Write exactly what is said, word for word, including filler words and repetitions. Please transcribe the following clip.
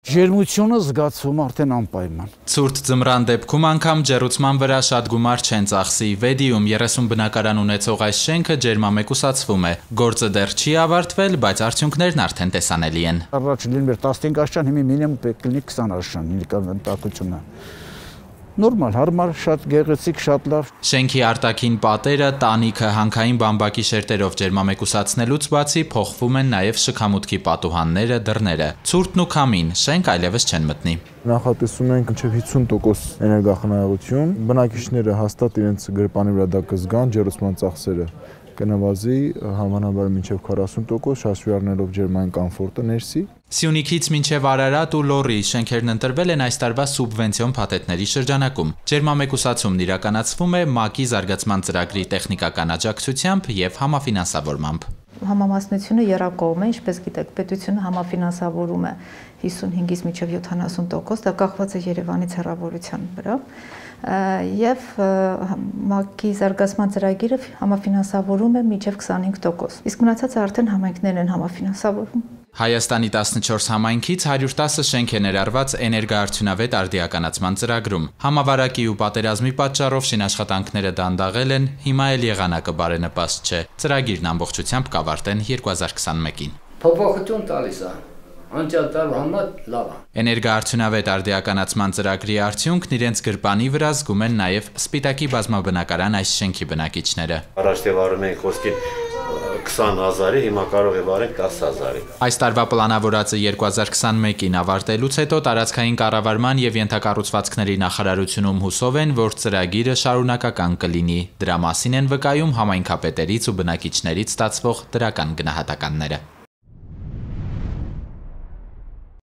Ջերմությունը զգացվում արդեն անպայման։ Ցուրտ ձմռան դեպքում անգամ ջեռուցման վրա շատ գումար չեն ծախսի։ Վեդիում երեսուն բնակարան ունեցող այս շենքը ջերմամեկուսացվում է։ Գործը դեռ չի ավարտվել, բայց արդյունքներն արդեն տեսանելի են։ Առաջ լիներ տասնհինգ աշճան, հիմա մինիմում պետք է լինի քսան աշճան, նկատակությունը։ Նորմալ, հարմար, շատ գեղեցիկ, շատ լավ։ Շենքի արտաքին պատերը, տանիքը, հանքային բամբակի շերտերով ջերմամեկուսացնելուց բացի փոխվում են նաև շքամուտքի պատուհանները, դռները։ Ցուրտն ու քամին, շենք այլևս չեն մտնի։ Նախատեսում ենք մինչև հիսուն տոկոս էներգախնայողություն։ Բնակիչները հաստատ իրենց գրպանի վրա դա կզգան, ջեռուցման ծախսերը կնվազի համանաբար մինչև քառասուն տոկոս, հաշվի առնելով ջերմային կոմֆորտը ներսի։ Սյունիքից մինչև Արարատ ու Լոռի շենքերն ընտրվել են այս տարվա սուբվենցիոն փաթեթների շրջանակում։ Ջերմամեկուսացումն իրականացվում է ՄԱԿ-ի զարգացման ծրագրի տեխնիկական աջակցությամբ եւ համաֆինանսավորմամբ։ Համամասնությունը եռակողմ է, ինչպես գիտեք, պետությունը համաֆինանսավորում է հիսունհինգից մինչև յոթանասուն տոկոս, դա կախված է Երևանից հեռավորության վրա, եւ ՄԱԿ-ի զարգացման ծրագիրը համաֆինանսավորում է մինչև քսանհինգ տոկոս, իսկ մնացածը արդեն համայնքներն են համաֆինանսավորում։ Հայաստանի տասնչորս համայնքից հարյուր տասը շենք է ներառված էներգոարդյունավետ արդիականացման ծրագրում։ Համավարակի ու պատերազմի պատճառով շինաշխատանքները դանդաղել են, հիմա էլ եղանակը բարենպաստ չէ։ Ծրագիրն ամբողջությամբ կավարտեն երկու հազար քսանմեկին։ Փոփոխություն տալիս է։ Անջատար համար լավ է։ Էներգոարդյունավետ արդիականացման ծրագրի արդյունքն իրենց գրպանի վրա զգում են նաև Սպիտակի բազմաբնակարան այս շենքի բնակիչները։ Առաջ վարում ենք խոսքին քսան հազարի, հիմա կարող է վարել տասը հազարի։ Այս տարվա պլանավորածը երկու հազար քսանմեկին ավարտելուց հետո տարածքային կառավարման եւ ենթակառուցվածքների նախարարությունում հուսով են, որ ծրագիրը շարունակական կլինի։ Դրա մասին են վկայում համայնքապետերից ու բնակիչներից ստացվող դրական գնահատականները։